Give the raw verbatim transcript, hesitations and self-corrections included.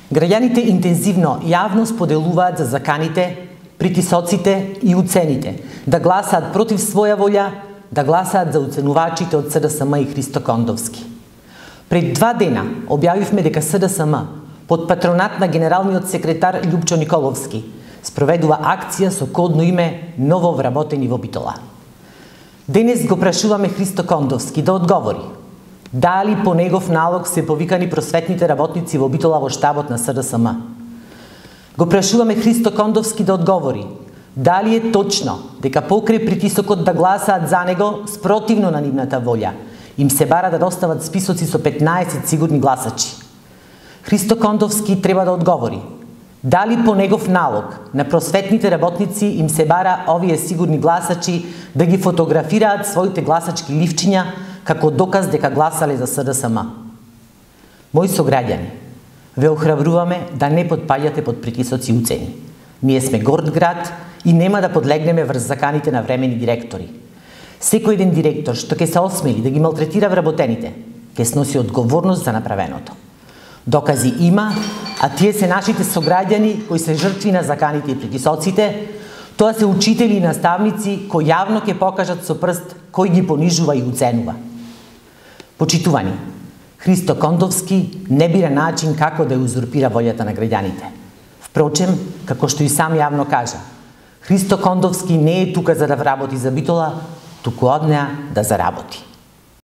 Граѓаните интензивно јавно споделуваат за заканите, притисоците и уцените, да гласаат против своја волја, да гласаат за уценувачите од СДСМ и Христо Кондовски. Пред два дена објавивме дека СДСМ под патронат на генералниот секретар Љупчо Николовски спроведува акција со кодно име Ново вработени во Битола. Денес го прашуваме Христо Кондовски да одговори дали по негов налог се повикани просветните работници во Битола во штабот на СДСМ. Го прашуваме Христо Кондовски да одговори дали е точно дека покрај притисокот да гласаат за него спротивно на нивната волја им се бара да достават списоци со петнаесет сигурни гласачи. Христо Кондовски треба да одговори дали по негов налог на просветните работници им се бара овие сигурни гласачи да ги фотографираат своите гласачки ливчиња како доказ дека гласале за СДСМ. Мои сограѓани, ве охрабруваме да не потпаѓате под притисоци и уцени. Ние сме горд град и нема да подлегнеме врз заканите на времени директори. Секој еден директор што ќе се осмели да ги малтретира вработените, ќе сноси одговорност за направеното. Докази има, а тие се нашите сограѓани кои се жртви на заканите и притисоците, тоа се учители и наставници кои јавно ќе покажат со прст кој ги понижува и уценува. Почитувани, Христо Кондовски не бира начин како да ја узурпира волјата на граѓаните. Впрочем, како што и сам јавно кажа, Христо Кондовски не е тука за да вработи за Битола, туку од неа да заработи.